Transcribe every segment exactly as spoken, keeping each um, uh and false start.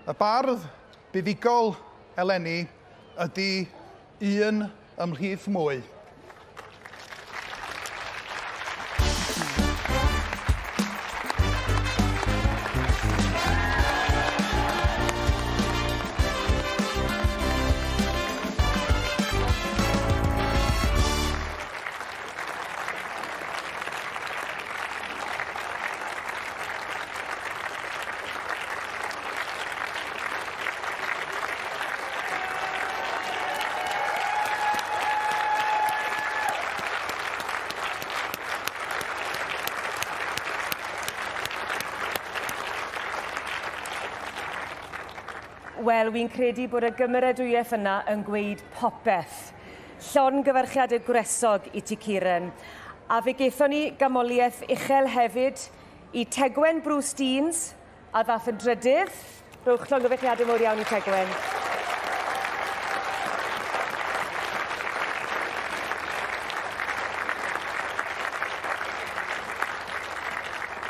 Y bardd buddugol eleni ydy Un Ymhlith Mwy. Wel, wi'n credu bod y gymeradwyaeth yna yn gweud popeth. Llongyfarchiadau gwresog i ti, Kieran. A fe gaethon ni ganmoliaeth uchel hefyd i Tegwen Bruce Deans, a ddath yn drydydd. Rhowch llongyfarchiadau mawr iawn i Tegwen.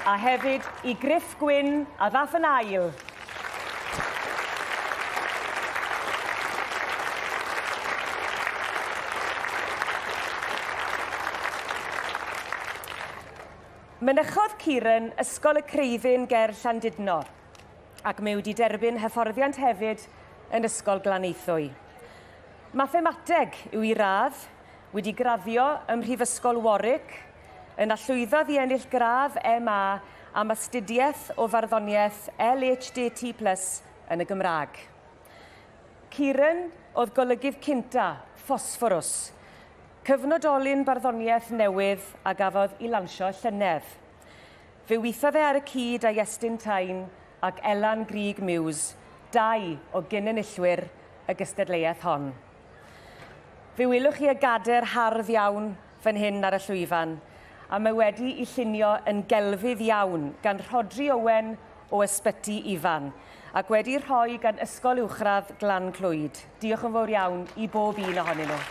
A hefyd i Griff Gwyn, a ddath yn ail. Mynychodd Kieran Ysgol y Creuddyn ger Llandudno, ac mae wedi derbyn hyfforddiant hefyd yn Ysgol Glanaethwy. Mathemateg yw ei radd, wedi graddio ym Mhrifysgol Warwick, yna llwyddodd i ennill gradd M A am astudiaeth o farddoniaeth L H D T plus yn y Gymraeg. Kieran oedd golygydd cynta, Ffosfforws, cyfnodolyn barddoniaeth newydd a gafodd ei lansio llynedd. Fe weithiodd e ar y cyd â Iestyn Tyne ac Elan Grug Muse, dau o gyn-enillwyr y gystadleuaeth hon. Fe welwch chi y gader hardd iawn fan hyn ar y llwyfan, a mae wedi ei llunio yn gelfydd iawn gan Rhodri Owen o Ysbyty Ifan, ac wedi rhoi gan Ysgol Uwchradd Glan Clwyd. Diolch yn fawr iawn i bob un ohonyn nhw.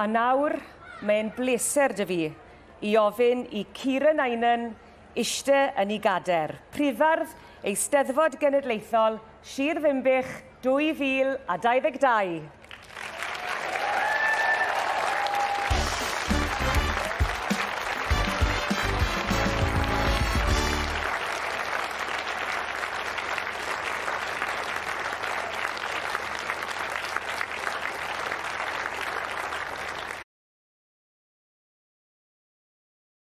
A nawr, mae'n bleser 'da fi i ofyn i Kieran Eynon eistedd yn ei gader. Prifardd Eisteddfod Genedlaethol Sir Ddinbych dwy fil a dau ddeg dau.